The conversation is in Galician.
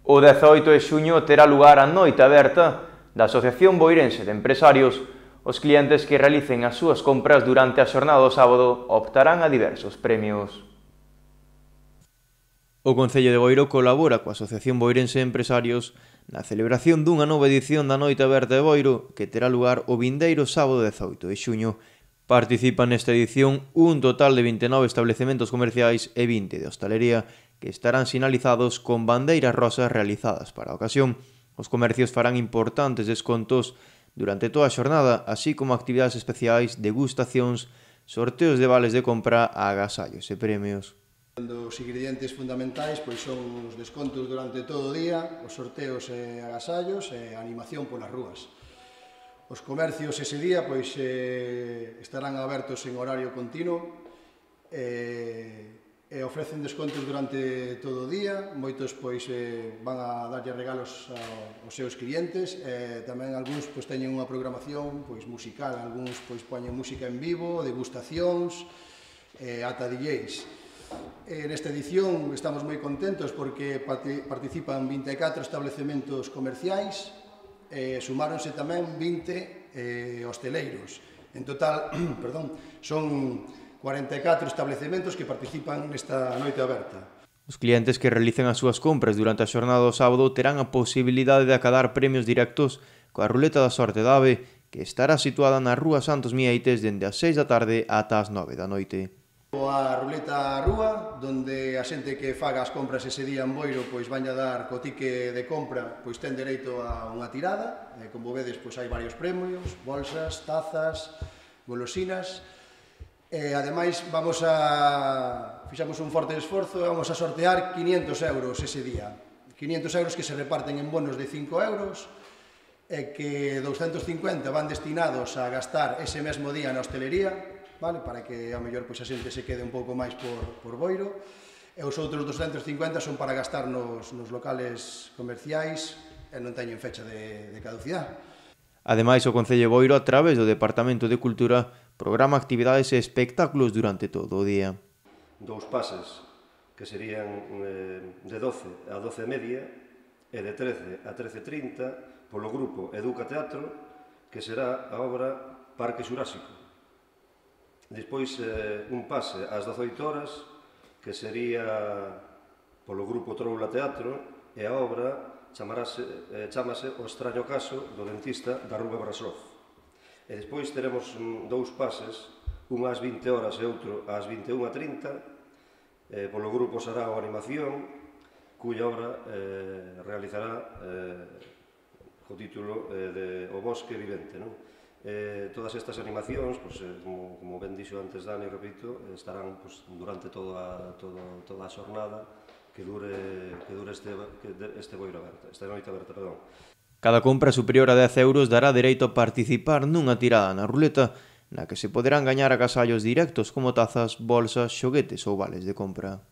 O 18 de xuño terá lugar a noite aberta da Asociación Boirense de Empresarios. Os clientes que realicen as súas compras durante a xornada do sábado optarán a diversos premios. O Concello de Boiro colabora coa Asociación Boirense de Empresarios na celebración dunha nova edición da Noite Aberta de Boiro que terá lugar o vindeiro sábado 18 de xuño. Participan nesta edición un total de 29 establecementos comerciais e 20 de hostalería que estarán sinalizados con bandeiras rosas realizadas para a ocasión. Os comercios farán importantes descontos durante toda a xornada, así como actividades especiais, degustacións, sorteos de vales de compra, agasallos e premios. Os ingredientes fundamentais pois son os descontos durante todo o día, os sorteos e agasallos e a animación polas rúas. Os comercios ese día pois estarán abertos en horario continuo e ofrecen descontos durante todo o día. Moitos pois van a darlle regalos aos seus clientes e tamén algúns pois teñen unha programación pois musical, algúns pois poñen música en vivo, degustacións, ata DJs. Nesta edición estamos moi contentos porque participan 24 establecementos comerciais e sumáronse tamén 20 hosteleiros. En total, son 44 establecementos que participan nesta noite aberta. Os clientes que realicen as súas compras durante a xornada do sábado terán a posibilidade de acadar premios directos coa ruleta da sorte da AVE, que estará situada na Rúa Santos Mieites dende as 6 da tarde ata as 9 da noite. A ruleta rúa, donde a xente que faga as compras ese día en Boiro pois vaña dar co tique de compra, pois ten dereito a unha tirada, como vedes pois hai varios premios, bolsas, tazas, golosinas. Ademais, fixamos un forte esforzo e vamos a sortear 500 euros ese día. 500 euros que se reparten en bonos de 5 euros e que 250 van destinados a gastar ese mesmo día na hostelería, para que a mellor a xente se quede un pouco máis por Boiro, e os outros 250 son para gastar nos locales comerciais e non teñen fecha de caducidade. Ademais, o Concello de Boiro, a través do Departamento de Cultura, programa actividades e espectáculos durante todo o día. 2 pases, que serían de 12 a 12:30 e de 13 a 13:30 polo grupo Educa Teatro, que será a obra Parque Xurásico. Despois, un pase ás 18 horas, que sería polo grupo Troula Teatro, e a obra chamase O extraño caso do dentista da Rúa Brasov. E despois teremos 2 pases, un ás 20 horas e outro ás 21:30, polo grupo Sarao Animación, cuya obra realizará co título de O bosque vivente. Todas estas animacións, como ben dixo antes Dani, repito, estarán durante toda a xornada que dure esta noite aberta. Cada compra superior a 10 euros dará dereito a participar nunha tirada na ruleta, na que se poderán gañar agasallos directos como tazas, bolsas, xoguetes ou vales de compra.